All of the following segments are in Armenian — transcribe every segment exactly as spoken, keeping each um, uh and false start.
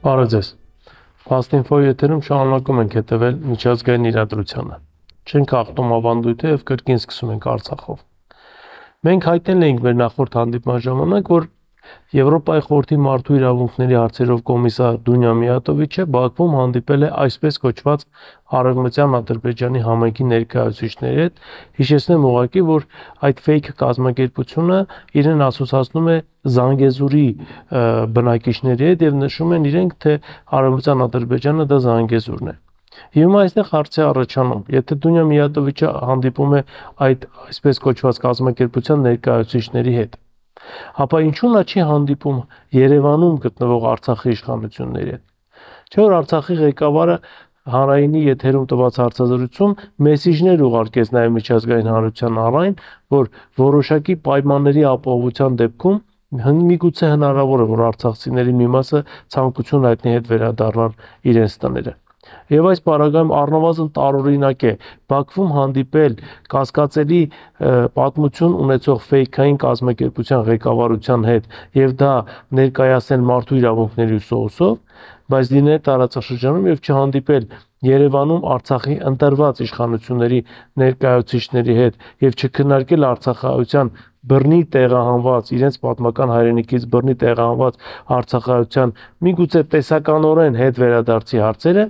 Բարև ձեզ։ Fast-Info եթերում շարունակում ենք հետևել միջազգային իրադրությանը։ Չենք հաղթում ավանդույթը եւ կրկին սկսում ենք Արցախով։ Մենք հայտնել էինք մեր նախորդ հանդիպման ժամանակ, որ Եվրոպայի խորհրդի մարդու իրավունքների հարցերով կոմիսար Դունյա Միատովիչը Բաքվում հանդիպել է այսպես կոչված Արևմտյան Ադրբեջանի համայնքի ներկայացուցիչների հետ, հիշեցնեմ ուղղակի, որ այդ fake կազմակերպությունը իրեն ասոցացնում է Զանգեզուրի բնակիչների հետ եւ նշում են իրենք, թե Արևմտյան Ադրբեջանը դա Զանգեզուրն է։ Հիմա այստեղ հարց է առաջանում, եթե Դունյա Միատովիչը հանդիպում է այդ այսպես կոչված կազմակերպության ներկայացուցիչների հետ, ապա ինչու նա չի հանդիպում Երևանում գտնվող Արցախի իշխանությունների հետ։ Չէ՞ որ Արցախի ղեկավարը հանրայինի եթերում տված հարցազրույցում մեսիջներ ուղարկեց նաև միջազգային հանրության առայն, որ որոշակի պայմանների ապահովության դեպքում միգուցե հնարավոր է, որ արցախցիների մի մասը ցանկություն հայտնի հետ վերադառնան իրենց տները։ Եվ այս պարագայում առնվազն տարօրինակ է Բաքվում հանդիպել կասկածելի պատմություն ունեցող ֆեյքային կազմակերպության ղեկավարության հետ եւ դա ներկայացնել մարդու իրավունքների ուսուցով, բայց լինել տարածաշրջանում եւ չհանդիպել Երևանում Արցախի ընտրված իշխանությունների ներկայացուցիչների հետ եւ չքննարկել արցախայության բռնի տեղահանված իրենց պատմական հայրենիքից բռնի տեղահանված արցախայության միգուցե տեսականորեն հետ վերադարձի հարցերը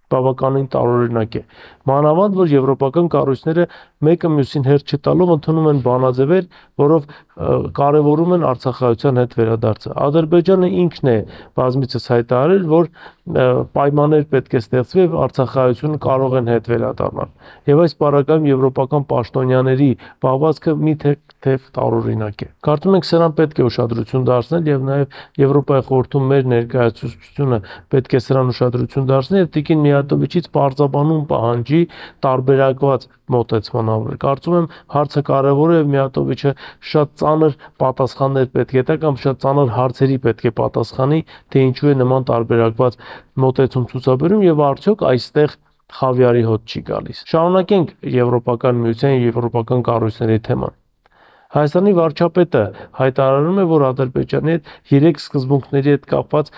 բավականին տարօրինակ է։ Մանավանդ որ եվրոպական կառույցները մեկը մյուսին հերթ չտալով ընդունում են բանաձևեր, որով կարևորում են արցախայության հետ վերադարձը։ Ադրբեջանը ինքն է բազմիցս հայտարարել, որ պայմաններ պետք է ստեղծվի եւ արցախայությունը կարող են հետ վերադառնալ։ Եվ այս պարագայում եվրոպական պաշտոնյաների պահվածքը մի թեթև տարօրինակ է։ Կարծում ենք սրան պետք է ուշադրություն դարձնել եւ նաեւ Եվրոպայի խորհրդում մեր ներկայացուցչությունը պետք է սրան ուշադրություն դարձնել եւ Տիկին Միատովիչից պարզաբանում պահանջի տարբերակված մոտեցման համար։ Կարծում եմ հարցը կարևոր է եւ Միատովիչը շատ ծանր պատասխաններ պետք է տա կամ շատ ծանր հարցերի պետք է պատասխանի, թե ինչու է նման տարբերակված մոտեցում ցուցաբերում եւ արդյոք այստեղ խավիարի հոտ չի գալիս։ Շարունակենք Եվրոպական միության եւ եվրոպական կառույցների թեման։ Հայաստանի վարչապետը հայտարարում է, որ Ադրբեջանի հետ երեք սկզբունքների հետ կապված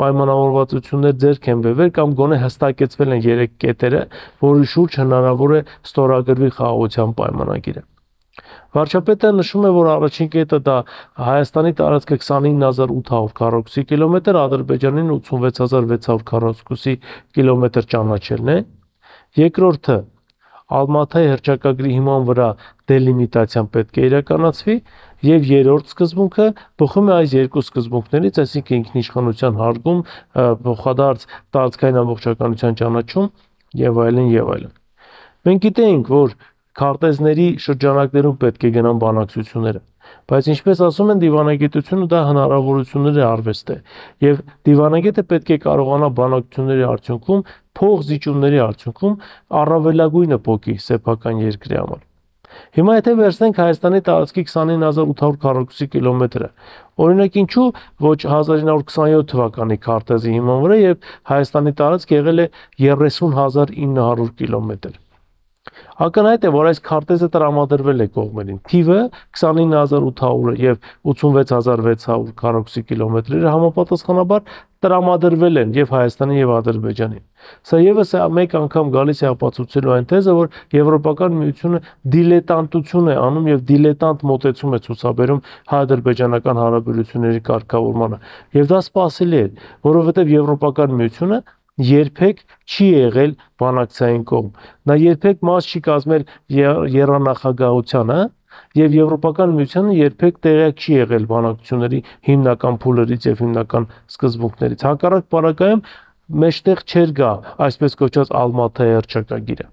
պայմանավորվածություններ ձեռք են բերվել կամ գոնե հստակեցվել են երեք կետերը, որի շուրջ հնարավոր է ստորագրվի խաղաղության պայմանագիրը։ Վարչապետը նշում է, որ առաջին կետը դա Հայաստանի տարածքը քսանինը հազար ութ հարյուր քառակուսի կիլոմետր, Ադրբեջանին ութսունվեց հազար վեց հարյուր քառակուսի կիլոմետր ճանաչելն է։ Երկրորդը Ալմաթայի հռչակագրի հիման վրա դելիմիտացիան պետք է իրականացվի եւ երրորդ սկզբունքը բխում է այս երկու սկզբունքներից, այսինքն ինքնիշխանության հարգում, փոխադարձ տարածքային ամբողջականության ճանաչում եւ այլն եւ այլն։ Մենք գիտենք, որ քարտեզների շրջանակներում պետք է գնան բանակցությունները, բայց ինչպես ասում են դիվանագիտությունը դա հնարավորությունների արվեստ է եւ դիվանագետը պետք է կարողանա բանակցությունների արդյունքում փոխզիջումների արդյունքում առավելագույնը փոկի սեփական երկրի համար։ Հիմա եթե վերցնենք Հայաստանի տարածքի քսանինը հազար ութ հարյուր քառակուսի կիլոմետրը, օրինակ ինչու ոչ հազար ինը հարյուր քսանյոթ թվականի քարտեզի հիման վրա եւ Հայաստանի տարածք եղել է երեսուն հազար ինը հարյուր կիլոմետր։ Ակնհայտ է, որ այս քարտեզը տրամադրվել է կողմերին։ Թիվը քսանինը հազար ութ հարյուրը եւ ութսունվեց հազար վեց հարյուր քառակուսի կիլոմետրերը համապատասխանաբար տրամադրվել են եւ Հայաստանին եւ Ադրբեջանին։ Սա եւս մեկ անգամ գալիս է ապացուցելու այն թեզը, որ Եվրոպական միությունը դիլետանտություն է անում եւ դիլետանտ մոտեցում է ցուցաբերում հայ-ադրբեջանական հարաբերությունների կարգավորմանը։ Եվ դա սպասելի է, որովհետեւ Եվրոպական միությունը երբեք չի եղել բանակցային կողմ։ Նա երբեք մաս չի կազմել եռանախագահությանը եւ Եվրոպական միությունը երբեք տեղյակ չի եղել բանակցությունների հիմնական փուլերից եւ հիմնական սկզբունքներից։ Հակառակ պարագայում մեջտեղ չէր գա այսպես կոչված Ալմաթայի հռչակագիրը։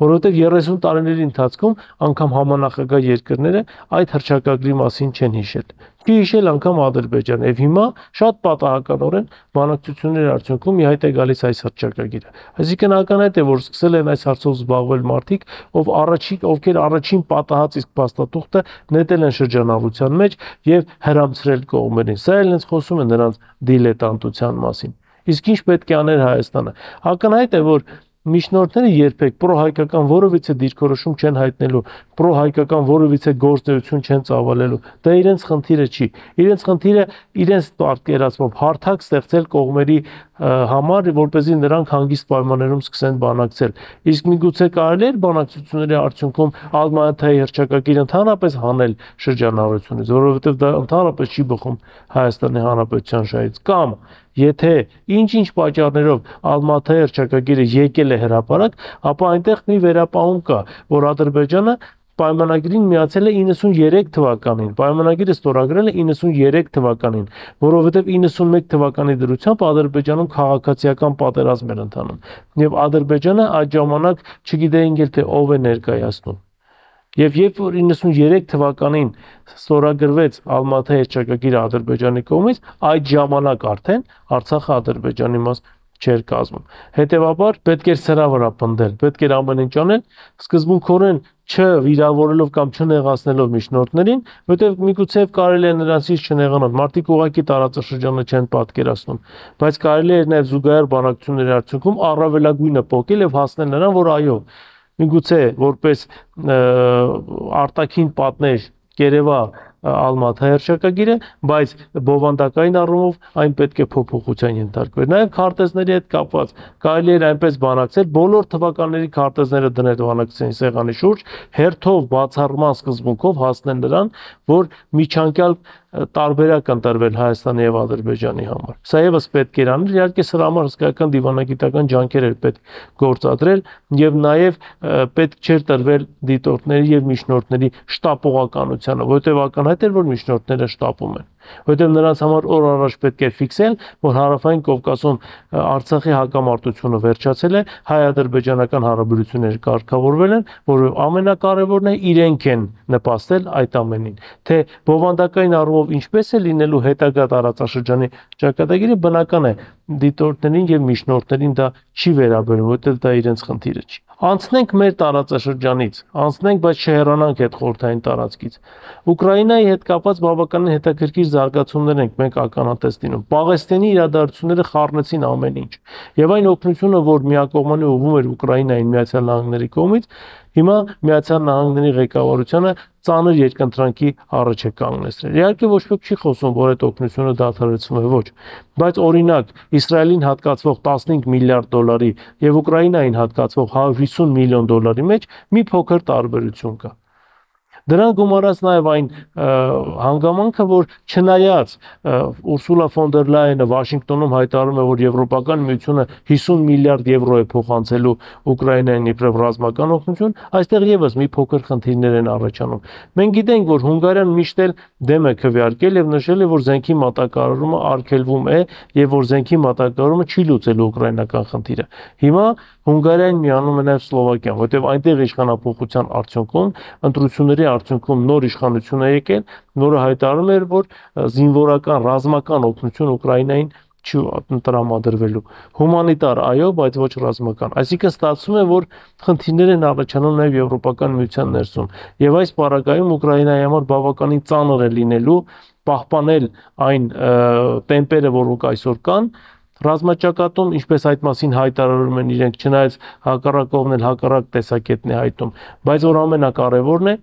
Որովհետև երեսուն տարիների ընթացքում անգամ համանախագահ երկրները այդ հռչակագրի մասին չեն հիշել։ Չի հիշել անգամ Ադրբեջանը եւ հիմա շատ պատահականորեն բանակցությունների արդյունքում ի հայտ է գալիս այս հռչակագիրը։ Այսինքն ակնհայտ է, որ սկսել են այս հարցով զբաղվել մարդիկ, ով առաջին ովքեր առաջին պատահած իսկ փաստաթուղթը նետել են շրջանառության մեջ եւ հրամցրել կողմերին։ Սա էլ հենց խոսում է նրանց դիլետանտության մասին։ Իսկ ինչ պետք է աներ Հայաստանը։ Ակնհայտ է, որ միջնորդները երբեք պրոհայկական որևիցե դիրքորոշում չեն հայտնելու, պրոհայկական որևիցե գործունեություն չեն ծավալելու։ Դա իրենց խնդիրը չի։ Իրենց խնդիրը իրենց պատկերացմամբ հարթակ ստեղծել կողմերի համար, որպեսզի նրանք հանգիստ պայմաններում սկսեն բանակցել։ Իսկ միգուցե կարելի է բանակցությունների արդյունքում Ալմատայի հռչակագիր ընդհանրապես հանել շրջանառությունից, որովհետև դա ընդհանրապես չի բխում Հայաստանի Հանրապետության շահից, կամ եթե ինչ-ինչ պատճառներով Ալմատայի հռչակագիրը եկել է հրապարակ, ապա այնտեղ մի վերապահում կա, որ Ադրբեջանը պայմանագրին միացել է իննսուններեք թվականին, պայմանագիրը ստորագրել է իննսուններեք թվականին, որովհետև իննսունմեկ թվականի դրությամբ Ադրբեջանում քաղաքացիական պատերազմ էր ընթանում, եւ Ադրբեջանը այդ ժամանակ չգիտեին էլ թե ով է ներկայացնում։ Եվ երբ որ իննսուններեք թվականին ստորագրվեց Ալմատայի հռչակագիրը Ադրբեջանի կողմից, այդ ժամանակ արդեն Արցախը Ադրբեջանի մաս չէր կազմում։ Հետևաբար պետք էր սրա վրա պնդել, պետք էր ամեն ինչ անել, սկզբունքորեն չվիրավորելով կամ չնեղացնելով միջնորդներին, որտեղ միգուցե կարելի է նրանցից չնեղանալ, մարդիկ ուղղակի տարածաշրջանը չեն պատկերացնում, բայց կարելի է նաև զուգահեռ բանակցությունների արդյունքում առավելագույնը փոխել եւ հասնել նրան, որ այո, միգուցե որպես արտաքին պատնեշ կերևա Ալմատայի հռչակագիրը, բայց բովանդակային առումով այն պետք է փոփոխության ենթարկվեր։ Նաև քարտեզների հետ կապված կարելի էր այնպես բանակցել, բոլոր թվականների քարտեզները դնել բանակցային սեղանի շուրջ, հերթով բացառման սկզբունքով հասնել նրան, որ միջանկյալ տարբերակ ընտրվել Հայաստանի եւ Ադրբեջանի համար։ Սա եւս պետք էր անել, իհարկե սրա համար հսկայական դիվանագիտական ջանքեր էր պետք գործադրել եւ նաեւ պետք չէր տրվել դիտորդների եւ միջնորդների շտապողականությանը, որովհետեւ ակնհայտ էր, որ միջնորդները շտապում են, որովհետեւ նրանց համար օր առաջ պետք է ֆիքսել, որ Հարավային Կովկասում Արցախի հակամարտությունը վերջացել է, հայ-ադրբեջանական հարաբերությունները կարգավորվել են, որը ամենակարևորն է, իրենք են նպաստել այդ ամենին, թե բովանդակային առումով ինչպես է լինելու հետագա տարածաշրջանի ճակատագիրը, բնական է դիտորդներին եւ միջնորդներին դա չի վերաբերում, որովհետեւ դա իրենց խնդիրը չի։ Անցնենք մեր տարածաշրջանից, անցնենք, բայց չհեռանանք այդ խորհրդային տարածքից։ Ուկրաինայի հետ կապված բավականին հետաքրքիր զարգացումներ ենք մենք ականատես լինում։ Պաղեստինի իրադարձությունները խառնեցին ամեն ինչ։ Եվ այն օգնությունը, որ միակողմանի ուղղվում էր Ուկրաինային Միացյալ Նահանգների կողմից, հիմա Միացյալ Նահանգների ղեկավարությունը ծանր երկընտրանքի առաջ է կանգնեցրել։ Իհարկե ոչ ոք չի խոսում, որ այդ օգնությունը դադարեցվում է, ոչ, բայց օրինակ Իսրայելին հատկացվող տասնհինգ միլիարդ դոլարի եւ Ուկրաինային հատկացվող հարյուր հիսուն միլիոն դոլարի մեջ մի փոքր տարբերություն կա։ Դրան գումարած նաև այն հանգամանքը, որ չնայած Ուրսուլա ֆոն դեր Լայենը Վաշինգտոնում հայտարարում է, որ Եվրոպական միությունը հիսուն միլիարդ եվրո է փոխանցելու Ուկրաինային իբրև ռազմական օգնություն, այստեղ եւս մի փոքր խնդիրներ են առաջանում։ Մենք գիտենք, որ Հունգարիան միշտ էլ դեմ է քվեարկել եւ նշել է, որ զենքի մատակարարումը արգելվում է եւ որ զենքի մատակարարումը չի լուծելու ուկրաինական խնդիրը։ Հիմա Հունգարիան միանում է նաեւ Սլովակիան, որտեղ այնտեղ իշխանապողության արդյունքում ընտրությունների արդյունքում նոր իշխանություն է եկել, որը հայտարարում էր, որ զինվորական ռազմական օգնություն Ուկրաինային չի տրամադրվելու։ Հումանիտար այո, բայց ոչ ռազմական։ Այսինքն ստացվում է, որ խնդիրներ են առաջանում նաև Եվրոպական միության ներսում։ Եվ այս պարագայում Ուկրաինայի համար բավականին ծանր է լինելու պահպանել այն տեմպերը, որոնք այսօր կան, ռազմաճակատում, ինչպես այդ մասին հայտարարում են իրենք, չնայած հակառակ կողմն էլ հակառակ տեսակետն է հայտում, բայց որ ամենակարևորն է,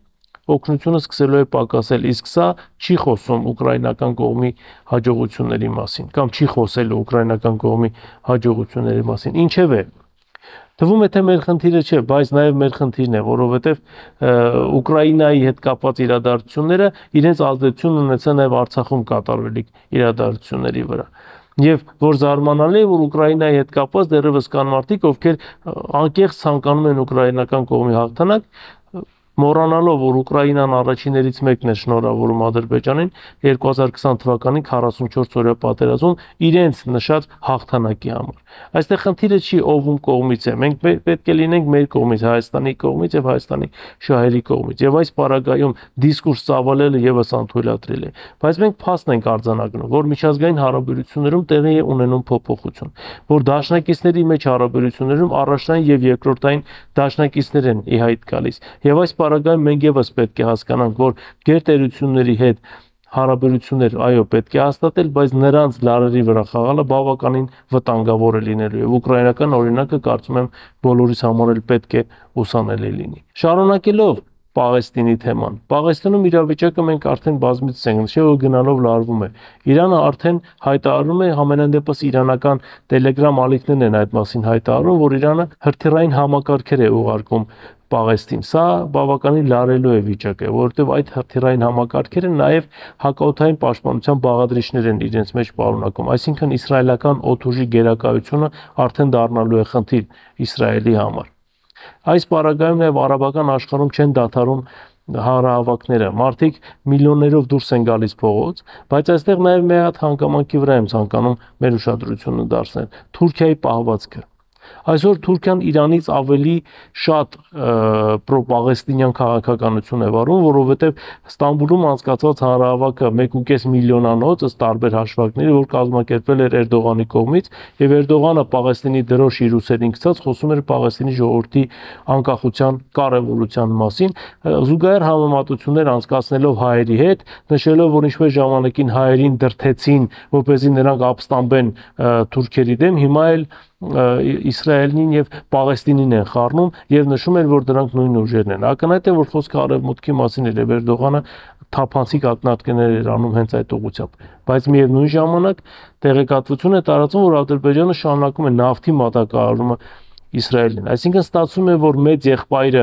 օգնությունը սկսելու է պակասել, իսկ սա չի խոսում ուկրաինական կողմի հաջողությունների մասին, կամ չի խոսել ուկրաինական կողմի հաջողությունների մասին։ Ինչևէ, թվում է թե մեր խնդիրը չէ, բայց նաև մեր խնդիրն է, որովհետև Ուկրաինայի հետ կապված իրադարձությունները իրենց ազդեցություն ունեցան նաև Արցախում կատարվելիք իրադարձությունների վրա։ Եվ որ զարմանալի է, որ Ուկրաինայի հետ կապված դեռևս կան մարդիկ, ովքեր անկեղծ ցանկանում են ուկրաինական կողմի հաղթանակ, մոռանալով, որ Ուկրաինան առաջիններից մեկն է շնորհավորում Ադրբեջանին երկու հազար քսան թվականի քառասունչորս օրյա պատերազմում իրենց նշած հաղթանակի համար։ Այստեղ խնդիրը չի ով ում կողմից է, մենք պետք է լինենք մեր կողմից, Հայաստանի կողմից եւ Հայաստանի շահերի կողմից։ Եվ այս պարագայում դիսկուրս ծավալելը եւս անթույլատրել է։ Բայց մենք փաստ ենք արձանագրում, որ միջազգային հարաբերություններում տեղի է ունենում փոփոխություն, որ դաշնակիցների մեջ հարաբերություններում առաջնային եւ երկրորդային դաշնակիցներ են ի հայտ գալիս։ Եվ այս պարագայում մենք եւս պետք է հասկանանք, որ գերտերությունների հետ հարաբերություններ, այո, պետք է հաստատել, բայց նրանց լարերի վրա խաղալը բավականին վտանգավոր է լինելու եւ ուկրաինական օրինակը կարծում եմ բոլորիս համար էլ պետք է ուսանելի լինի։ Շարունակելով Պաղեստինի թեման։ Պաղեստինում իրավիճակը մենք արդեն բազմիցս ենք նշել, որ գնալով լարվում է։ Իրանը արդեն հայտարարում է, համենայն դեպս իրանական Telegram ալիքներն են այդ մասին հայտարարում, որ Իրանը հրթիռային համակարգեր է ուղարկում Պաղեստին։ Սա բավականին լարելու է վիճակը, որովհետև այդ հրթիռային համակարգերը նաև հակաօդային պաշտպանության բաղադրիչներ են իրենց մեջ պարունակում։ Այսինքն իսրայելական օդուժի գերակայությունը արդեն դառնալու է խնդիր Իսրայելի համար։ Այս պարագայում նաև արաբական աշխարհում չեն դադարում հանրահավաքները, մարդիկ միլիոններով դուրս են գալիս փողոց, բայց այստեղ նաև մի հատ հանգամանքի վրա եմ ցանկանում մեր ուշադրությունը դարձնել՝ Թուրքիայի պահվածքը։ Այսօր Թուրքիան Իրանից ավելի շատ պրոպաղեստինյան քաղաքականություն է վարում, որովհետև Ստամբուլում անցկացված հանրահավաքը մեկ ու կես միլիոնանոց ըստ տարբեր հաշվարկների, որ կազմակերպվել էր Էրդողանի կողմից, եւ Էրդողանը Պաղեստինի դրոշ իր ուսերին գցած խոսում էր Պաղեստինի ժողովրդի անկախության կարևորության մասին, զուգահեռ համեմատություններ անցկացնելով հայերի հետ, նշելով, որ ինչպես ժամանակին հայերին դրթեցին, որպեսզի նրանք ապստամբեն թուրքերի դեմ, հիմա էլ Իսրայելին եւ Պաղեստինին են խառնում եւ նշում են, որ դրանք նույն ուժերն են։ Ակնհայտ է, որ խոսքը արևմուտքի մասին էր եւ Էրդողանը թափանցիկ ակնարկներ էր անում հենց այդ ուղղությամբ։ Բայց միևնույն ժամանակ տեղեկատվություն է տարածում, որ Ադրբեջանը շարունակում է նավթի մատակարարումը Իսրայելին։ Այսինքն ստացվում է, որ մեծ եղբայրը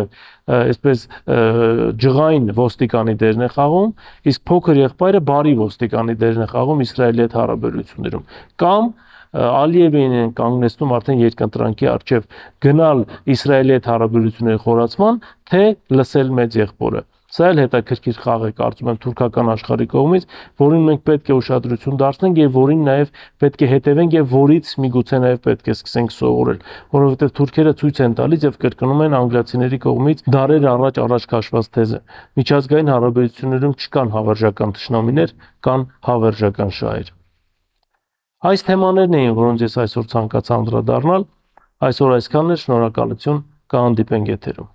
այսպես ջղային ոստիկանի դերն է խաղում, իսկ փոքր եղբայրը բարի ոստիկանի դերն է խաղում Իսրայելի հետ հարաբերություններում։ Կամ Ալիևին են կանգնեցնում արդեն երկընտրանքի առջև գնալ Իսրայելի հետ հարաբերությունների խորացման, թե լսել մեծ եղբորը։ Սա էլ հետաքրքիր խաղ է, կարծում եմ, թուրքական աշխարհի կողմից, որին մենք պետք է ուշադրություն դարձնենք եւ որին նաեւ պետք է հետևենք եւ որից միգուցե նաեւ պետք է սկսենք սովորել, որովհետեւ թուրքերը ցույց են տալիս եւ կրկնում են անգլիացիների կողմից դարեր առաջ առաջ քաշված թեզը։ Միջազգային հարաբերություններում չկան հավերժական թշնամիներ, կան հավերժական շահեր։ Այս թեմաներն էին, որոնց ես այսօր ցանկացա անդրադառնալ։ Այսօր այսքանն է, շնորհակալություն, կհանդիպենք եթերում։